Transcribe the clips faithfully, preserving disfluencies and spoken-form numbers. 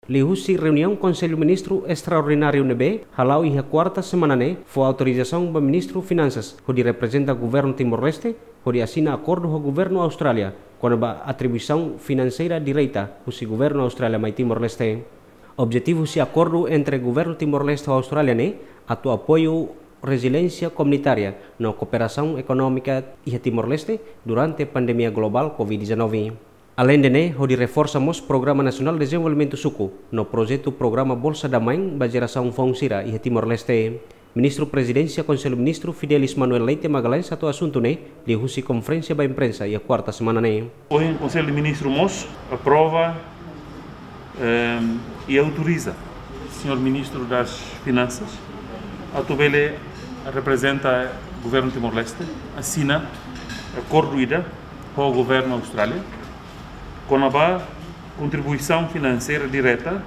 Liuhusi reuniaun Konsellu Ministru Estraordináriu ne'ebé hala'o iha kuarta semana ne'e, fó autorizasaun ba Ministru Finansas hodi reprezenta Governu Timor-Leste hodi asina akordu ho Governu Austrália kona-ba atribuisaun finanseira direta husi Governu Austrália mai Timor-Leste. Objetivu husi akordu entre Governu Timor-Leste ho Austrália ne'e atu apoiu reziliénsia komunitária no kooperasaun ekonómika iha Timor-Leste durante pandemia globál covid dezanove. Aleinde ne'e, hodi reforsa mós Programa Nasionál Dezenvolvimentu Suku no projetu programa Bolsa da Mãe ba jerasaun foun sira iha Timor-Leste. Ministru Prezidénsia Konsellu Ministru Fidelis Manuel Leite Magalhães hato'o asuntu ne'e liuhusi konferénsia ba imprensa iha kuarta semana ne'e. Ohin Konsellu de Ministru mós aprova, ehm, e autoriza Señór Ministru das Finansas atu bele reprezenta Governu Timor-Leste, asina akordu ida ho Governu Austrália kona-ba kontribuisaun finanseira direta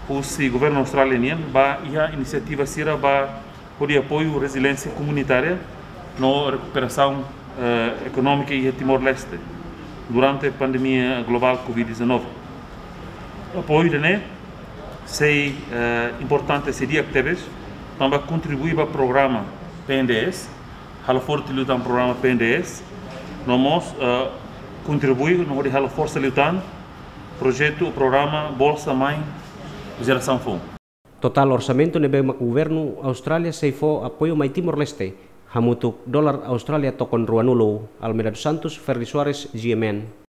husi Governu Austrália nian ba iha inisiativa sira ba hodi apoiu reziliénsia komunitária no rekuperasaun, eh, ekonómika iha Timor-Leste durante pandemia globál covid dezanove. Apoiu ida-ne'e sei, eh, importante, sei di'ak tebes, tanba kontribui ba programa P N D S, halo forte liután programa P N D S, no mós, eh, kontribui no hodi halo forsa liután projetu, programa Bolsa Mãe Jerasaun Foun. Totál orsamentu ne'ebé mak Governu Austrália sei fó apoiu mai Timor-Leste hamutuk dolar Austrália tokon ruanulu. Almeida dos Santos, Ferdi Soares, G M N.